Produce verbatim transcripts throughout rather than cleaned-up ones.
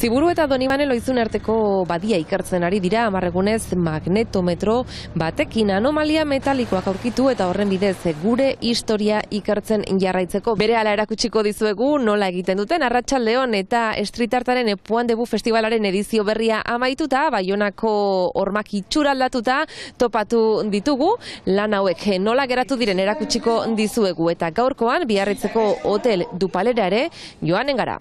Ziburu eta Donibane Lohizune arteko badia ikertzen ari dira hamarregunez magnetometro batekin anomalia metalikoak aurkitu eta horren bidez gure historia ikertzen jarraitzeko. Berehala erakutsiko dizuegu nola egiten duten Arratsaldeon eta Street Artaren Puan Debu Festivalaren edizio berria amaituta, Baionako hormak itxura aldatuta topatu ditugu. Lan hauek nola geratu diren erakutsiko dizuegu eta gaurkoan Biarritzeko Hotel Dupalera ere joanen gara.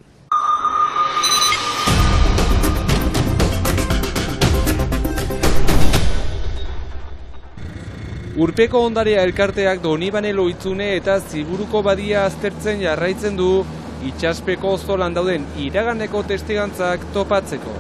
Urpeko ondarea elkarteak Donibane Lohizune eta Ziburuko badia aztertzen jarraitzen du itsaspeko zolan dauden iraganeko testigantzak topatzeko.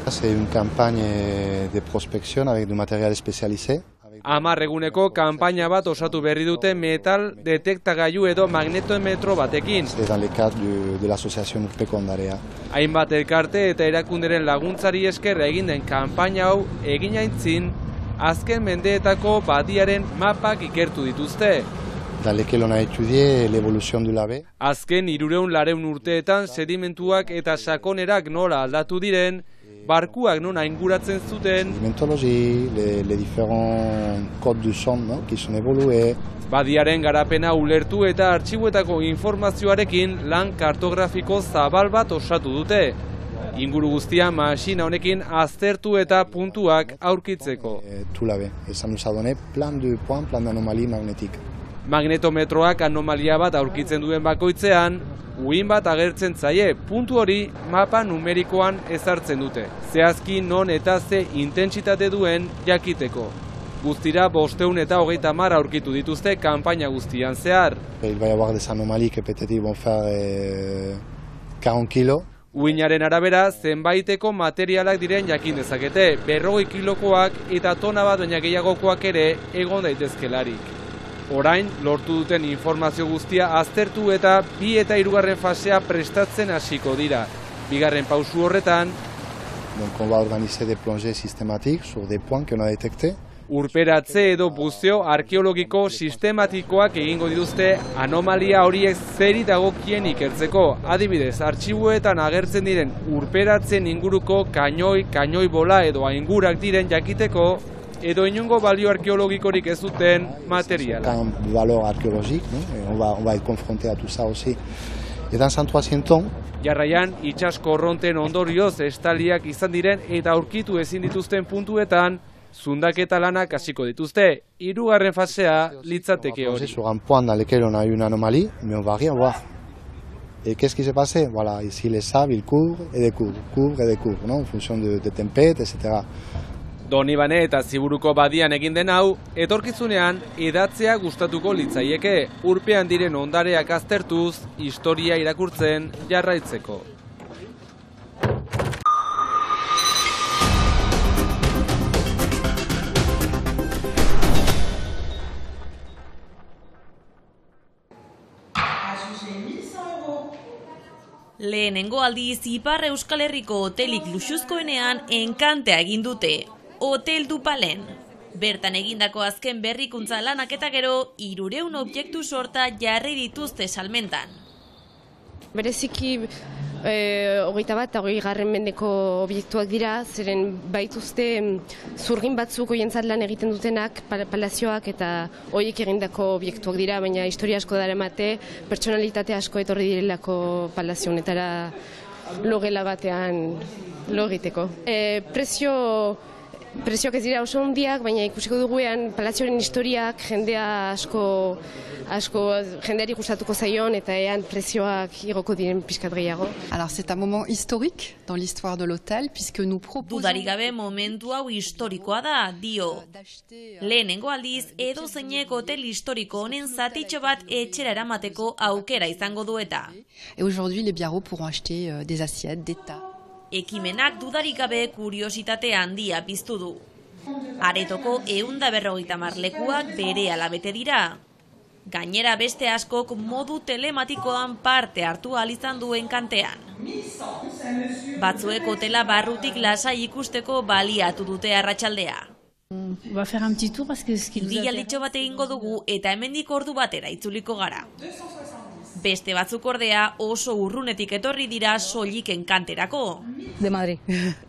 C'est une campagne de prospection avec du matériel spécialisé. Hamar eguneko kanpaina bat osatu berri dute metal detektagailu edo magnetometro batekin. C'est dans le cadre de, de l'association Urpeko ondarea. Hainbat elkarte eta erakunderen laguntzari esker egin den kanpaina hau egin aintzin azken mendeetako badiaren mapak ikertu dituzte. Dans lequel on a étudié l'évolution du labe. Azken hirurehun laurehun urteetan sedimentuak eta sakonerak nola aldatu diren, barkuak non inguratzen zuten, Sedimentologie, les, les différents codes du son, no? Qui sont évolués. Badiaren garapena ulertu eta artxibuetako informazioarekin lan kartografiko zabal bat osatu dute. Inguru guztia masina honekin aztertu eta puntuak aurkitzeko. Et tout labe. Et ça nous a donné plein de points, plein d'anomalies magnétiques. Magnetometroak anomalia bat aurkitzen duen bakoitzean, uhin bat agertzen zaie, puntu hori mapa numerikoan ezartzen dute. Zehazki non eta ze intentsitate duen jakiteko. Guztira bosteun eta hogeita hamar aurkitu dituzte kanpaina guztian zehar. Il va y avoir des anomalies que peut-être ils vont faire eh, quarante kilos. Uhinaren arabera, zenbaiteko materialak diren jakin dezakete, berrogei kilokoak eta tona bat baina gehiagokoak ere egon daitezkelarik. Orain, lortu duten informazio guztia aztertu eta bi eta hirugarren fasea prestatzen hasiko dira. Bigarren pausu horretan, Donc on va organiser des plongées systématiques sur des points qu'on a détectés. urperatze edo buzeo arkeologiko sistematikoak egingo dituzte anomalia horiek zeri dagokien ikertzeko. Adibidez, artxibuetan agertzen diren urperatzen inguruko kainoi, kainoi bola edo aingurak diren jakiteko, edo inungo balio arkeologikorik ez duten materiala. Un valeur archéologique, no? on, va, on va être confronté à tout ça aussi. Et dans un troisième temps, Jarraian, itsas korronten ondorioz estaliak izan diren eta aurkitu ezin dituzten puntuetan, zundaketa lanak hasiko dituzte. Hirugarren fasea litzateke hori. sur un point dans lequel on a eu une anomalie, mais on va rien voir. Et qu'est-ce qui s'est passé? Voilà, ici les sables, ils couvrent et découvrent, couvrent et découvrent, non? En fonction de, de tempêtes, et cetera. Donibane eta Ziburuko badian egin den hau, etorkizunean edatzea gustatuko litzaieke, urpean diren ondareak aztertuz, historia irakurtzen jarraitzeko. Lehenengo aldiz Ipar Euskal Herriko hotelik luxuzkoenean enkantea egin dute, Hotel Dupalen. Bertan egindako azken berrikuntza lanak eta gero, hirurehun objektu sorta jarri dituzte salmentan. Bereziki eh, hogeita bat eta hogei garren mendeko obiektuak dira, zeren baituzte zurgin batzuk hoientzat lan egiten dutenak, palazioak eta horiek egindako obiektuak dira, baina historia asko daramate, pertsonalitate asko etorri direlako palazio honetara logela batean lo egiteko. E, prezio Prezioak ez dira oso handiak, baina ikusiko duguean palazioaren historiak jendea asko, asko jendeari gustatuko zaion eta ean prezioak igoko diren pixkat gehiago. Alors c'est un moment historique dans l'histoire de l'hôtel puisque nous proposons... Dudarik gabe momentu hau historikoa da, dio. Lehenengo aldiz edo zeinek hotel historiko honen zatitxo bat etxera eramateko aukera izango du eta. Et aujourd'hui les Biarros pourront acheter euh, des assiettes, des tas. Ekimenak dudarik gabe kuriositate handia piztu du. Aretoko ehun eta berrogeita hamar lekuak berehala bete dira. Gainera beste askok modu telematikoan parte hartu ahal izan duen kantean. Batzuek hotela barrutik lasai ikusteko baliatu dute arratsaldea. Bidaialditxo bat egingo dugu eta hemendik ordu batera itzuliko gara. Beste batzuk ordea oso urrunetik etorri dira soilik enkanterako. De Madrid.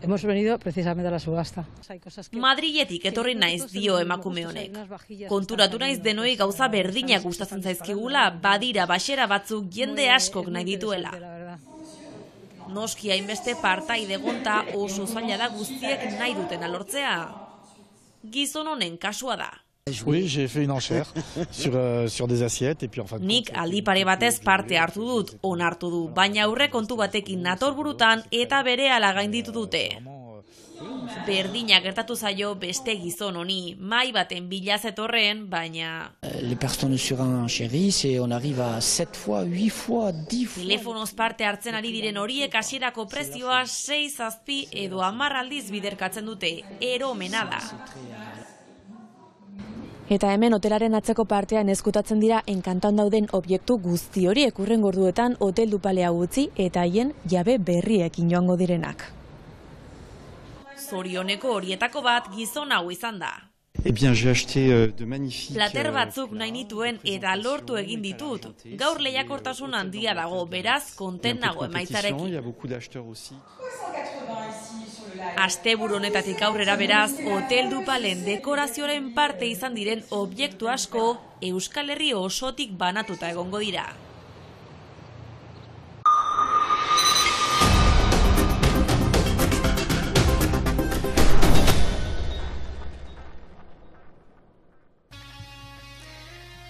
Hemos venido precisamente a la subasta. Madriletik etorri naiz dio emakume honek. Konturatu naiz denoi gauza berdinak gustatzen zaizkigula, badira baxera batzuk jende askok nahi dituela. Noski hainbeste partaide gonta oso zaila da guztiek nahi duten alortzea. Gizon honen kasua da. Oui, j'ai fait une enchère sur, euh, sur des assiettes et puis en fin de Nik aldi pare batez parte hartu dut, onartu du, baina aurre kontu batekin nator burutan eta berehala gainditu dute. Berdina gertatu zaio beste gizon honi, mai baten bila zetorren, baina... Les personnes sur un chéri, c'est on arrive à sept fois, huit fois, dix fois... Telefonoz parte hartzen ari diren horiek hasierako prezioa sei zazpi edo hamar aldiz biderkatzen dute, eromena da. Eta hemen hotelaren atzeko partean ezkutatzen dira enkantan dauden objektu guzti horiek hurrengo orduetan hotel dupalea utzi eta haien jabe berriekin joango direnak. Zorioneko horietako bat gizon hau izan da. Eh bien, j'ai acheté euh, de magnifiques... Plater batzuk nahi nituen eta lortu egin ditut. Gaur lehiakortasun handia dago, beraz, konten nago emaitzarekin. Il y a beaucoup d'acheteurs aussi. Asteburu honetatik aurrera beraz, hotel dupalen dekorazioaren parte izan diren objektu asko Euskal Herri osotik banatuta egongo dira.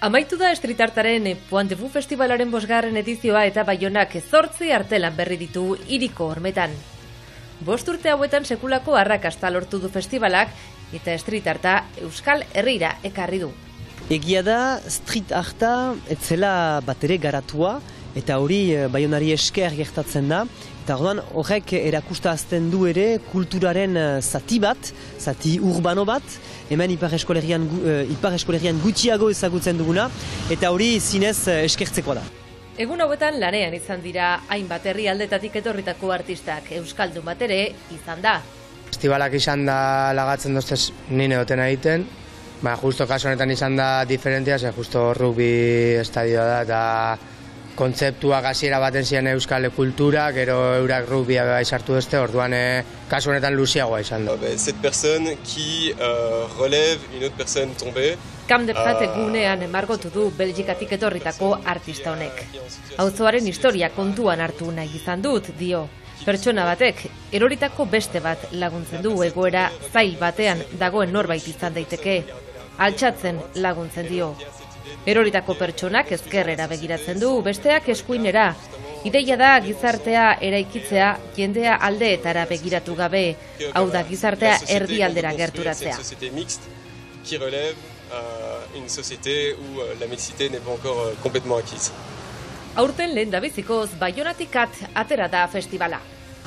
Amaitu da Street Artaren Pointe-Fu Festivalaren bosgarren edizioa eta Baionak zortzi artelan berri ditu hiriko hormetan. Bost urte hauetan sekulako arrakasta lortu du festivalak eta Street Arta Euskal Herrira ekarri du. Egia da Street Arta etzela batere garatua eta hori Baionari esker gertatzen da. Eta orduan horrek erakustazten du ere kulturaren zati bat, zati urbano bat, hemen Ipar Eskolerian, Ipar Eskolerian gutxiago ezagutzen duguna, eta hori zinez eskertzeko da. Egun hauetan lanean izan dira hainbat herrialdetatik etorritako artistak, euskaldun bat ere izan da. Festivalak izan da lagatzen doztez nine duten egiten, ba, justo kasu honetan izan da diferentia, ze justo rugby estadioa da, eta kontzeptuak hasiera baten ziren euskal kultura, gero eurak rugbia bai sartu dute, orduan kasu honetan luziagoa izan da. Cette personne qui euh, relève une autre personne tombée. Camp de Prat egunean emargotu du Belgikatik etorritako artista honek. Auzoaren historia kontuan hartu nahi izan dut, dio. Pertsona batek eroritako beste bat laguntzen du egoera zail batean dagoen norbait izan daiteke. Altxatzen laguntzen dio. Eroritako pertsonak ezkerrera begiratzen du, besteak eskuinera. Ideia da gizartea eraikitzea jendea aldeetara begiratu gabe, hau da gizartea erdialdera gerturatzea. Qui relève une société où la mixité n'est pas encore complètement acquise. Aurten lehen dabezikoz Baionatik atera da festivala.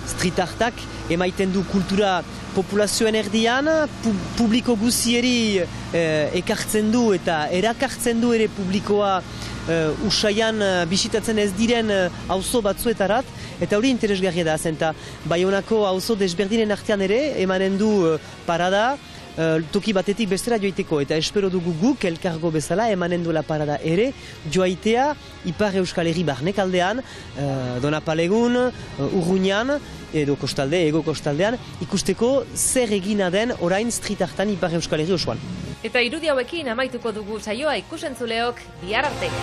Street Artak emaiten du kultura populazioen erdian, pu publiko guzieri eh, ekartzen du eta erakartzen du ere publikoa eh, usaian eh, bisitatzen ez diren auzo batzuetarat, eta hori interesgarria da zen, eta Baionako auzo desberdinen artean ere emanen du eh, parada, toki batetik bestera joiteko, eta espero dugu guk elkargo bezala emanen duela parada ere joaitea Ipar Euskal Herri barnek aldean, uh, Donapalegun, uh, Urruñan, edo kostalde, ego kostaldean, ikusteko zer egina den orain Street Artan Ipar Euskal Herri osoan. Eta irudi hauekin amaituko dugu saioa ikusentzuleok bihar arte.